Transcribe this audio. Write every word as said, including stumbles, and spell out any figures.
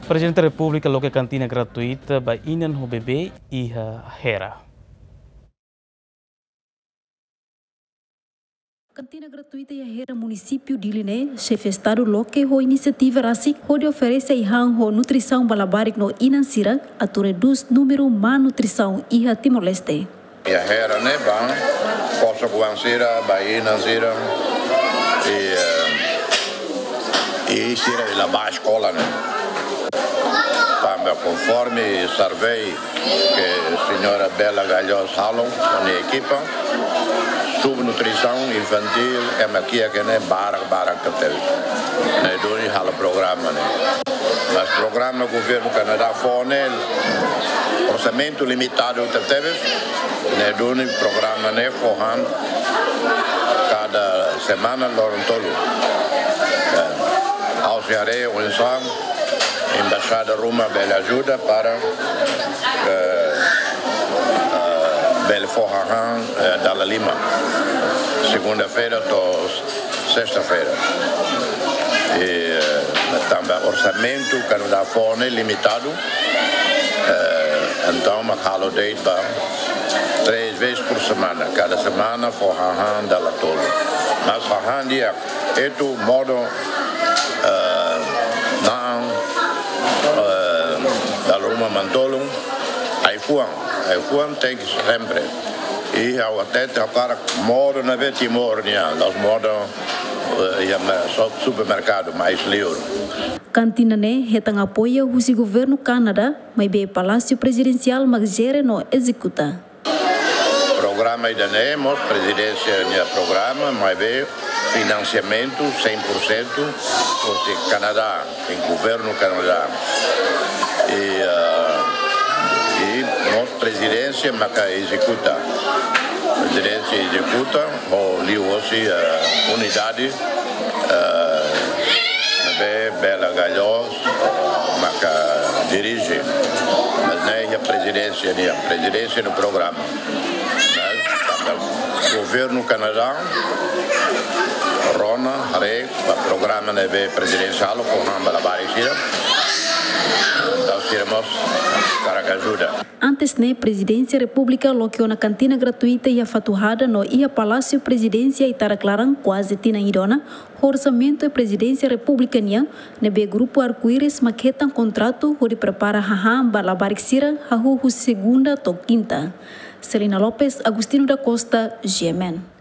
Prezidente Repúblika loke kantina gratuita ba inan ho bebé iha Hera. Kantina gratuita iha Hera, munisípiu Dili ne'e, xefe Estadu loke ho inisiativa rasik hodi oferese ai-han ho nutrisaun ba labarik no inan sira atu redús númeru malnutrisaun iha Timor-Leste. Iha Hera ne'e ba kosok-oan sira, ba inan sira, i, eh, i sira ne'ebé la bá eskola ne'e. Tanba konforme survey ke señora Bela Galhos halo ho nia ekipa, subnutrisaun infantil ema kiak ne'e barak-barak tebes. Ne'e duni halo programa ne'e. Mas programa governu Kanadá fó ne'e orsamentu limitadu tebes, ne'e duni programa ne'e fó han kada semana loron tolu. Eh, ha'u sei haree oinsá embaixada ruma bele ajuda para, eh, eh, bele fó hahán, eh, dala lima. Segunda-feira to'o sesta-feira. I, eh, tanba orsamentu Kanadá fó ne'e limitadu, eh, entaun mak halo de'it ba três vezes por semana. Kada semana fó hahán dala tolu. Mas hahán di'ak, etu, modo, eh, na'an, eh, dala ruma manu-tolun, ai-fuan, ai-fuan tenke sempre. I ha'u hatete, ha'u hakarak modo ne'ebé Timor nian, la'ós modo, eh, iha me-, so-, supermerkadu, mais liur. Kantina ne'e hetan apoiu husi governu Kanadá, maibé Palásiu Prezidensiál mak jere no ezekuta. Programa ida-ne'e mós prezidénsia nia programa, maibé finansiamentu cem por cento husi Kanadá, em governu Kanadá. I, ah, i mós prezidénsia maka ezekuta. Prezidénsia ezekuta, ho liuhosi, ah, unidade, ah, ne'ebé Bela Galhos maka dirije. Mas ne'e iha prezidénsia nian, prezidénsia no programa. Mas tanba governu Kanadá rona haree ba programa ne'ebé prezidénsia halo, fó han ba labarik sira. Entaun sira mós hakarak ajuda. Antes ne'e, Prezidénsia Repúblika loke ona kantina gratuita iha Fatuhada no iha Palásiu Prezidénsia Itarak Laran kuaze tinan ida ona, ho orsamentu Prezidénsia Repúblika nian, ne'ebé Grupu Arco-Íris mak hetan kontratu hodi prepara hahán ba labarik sira hahú husi segunda to'o kinta. Celina Lopes, Agostinho da Costa, G M N.